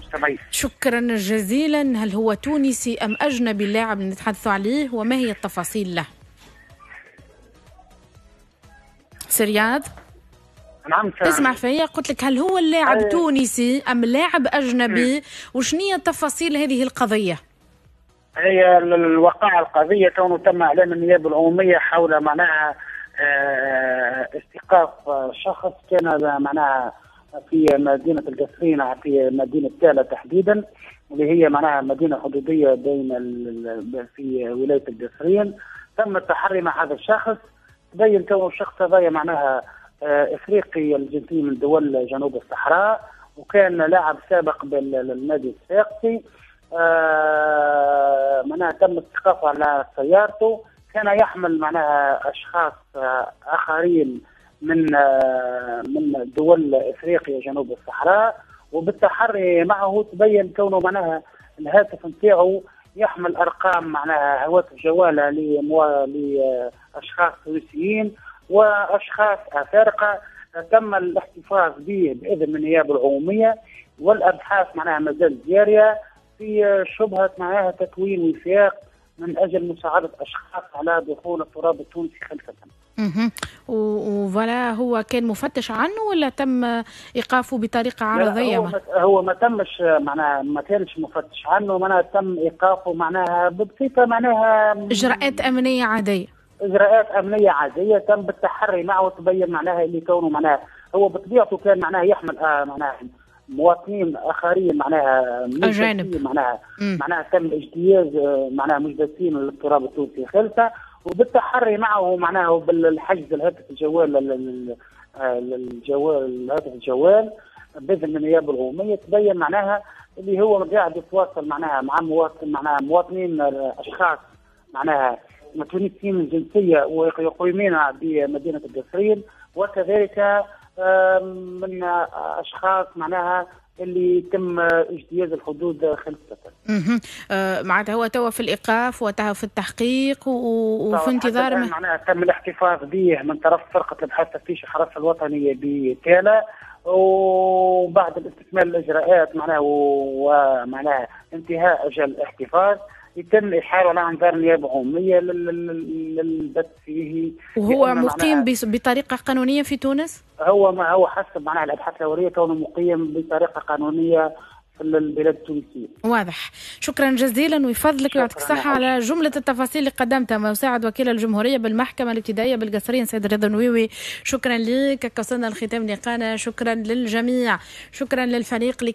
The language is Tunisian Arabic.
المستمعين. شكرا جزيلا. هل هو تونسي أم أجنبي اللاعب اللي نتحدث عليه، وما هي التفاصيل له؟ سي رياض؟ نعم، تسمع فيا؟ قلت لك هل هو اللاعب تونسي أم لاعب أجنبي، وشنية تفاصيل هذه القضية؟ هي الوقائع القضية كونه تم إعلان النيابة العمومية حول معناها استيقاف شخص كان معناها في مدينة القصرين، في مدينة تالة تحديدا، اللي هي معناها مدينة حدودية بين في ولاية القصرين. تم التحري مع هذا الشخص، تبين كونه الشخص هذا معناها افريقي الجنسية من دول جنوب الصحراء، وكان لاعب سابق بالنادي الصفاقسي. معناها تم استيقافه على سيارته، كان يحمل معناها اشخاص اخرين من دول افريقيا جنوب الصحراء، وبالتحري معه تبين كونه معناها الهاتف نتاعو يحمل ارقام معناها هواتف جواله لاشخاص تونسيين واشخاص افارقه. تم الاحتفاظ به باذن من النيابة العمومية، والابحاث معناها ما زالت جارية في شبهه معناها تكوين وثاق من اجل مساعدة اشخاص على دخول التراب التونسي خلفه. وفلا هو كان مفتش عنه ولا تم ايقافه بطريقة عرضية؟ هو ما تمش معناها، ما كانش مفتش عنه، معناها تم ايقافه معناها بصفة معناها اجراءات امنية عادية. اجراءات امنية عادية تم بالتحري معه، وتبين معناها اللي كونه معناها هو بطبيعته كان معناها يحمل معناها مواطنين اخرين معناها اجانب، معناها تم اجتياز معناها مجدسين للتراب التونسي خلفه، وبالتحري معه معناها وبالحجز الهاتف الجوال الهاتف الجوال باذن من النيابة العمومية، تبين معناها اللي هو قاعد يتواصل معناها مع مواطن معناها مواطنين اشخاص معناها تونسيين الجنسية ويقيمين بمدينة القصرين، وكذلك من اشخاص معناها اللي تم اجتياز الحدود خلفه. معناتها هو توا في الايقاف وتوا في التحقيق وفي انتظار معناها تم الاحتفاظ به من طرف فرقه الابحاث تفتيش الحرس الوطنية بتالا، وبعد الاستكمال الاجراءات معناها ومعناها انتهاء اجل الاحتفاظ يتم إحالة على أنظار النيابة العمومية للبت فيه. وهو مقيم بطريقة قانونية في تونس؟ هو ما هو حسب معناها الأبحاث الأولية كونه مقيم بطريقة قانونية في البلاد التونسية. واضح. شكرا جزيلا ويفضلك ويعطيك الصحة على جملة التفاصيل اللي قدمتها مساعد وكيل الجمهورية بالمحكمة الابتدائية بالقصرين سيد رضا نويوي. شكرا لك. وصلنا لختام لقانا. شكرا للجميع، شكرا للفريق اللي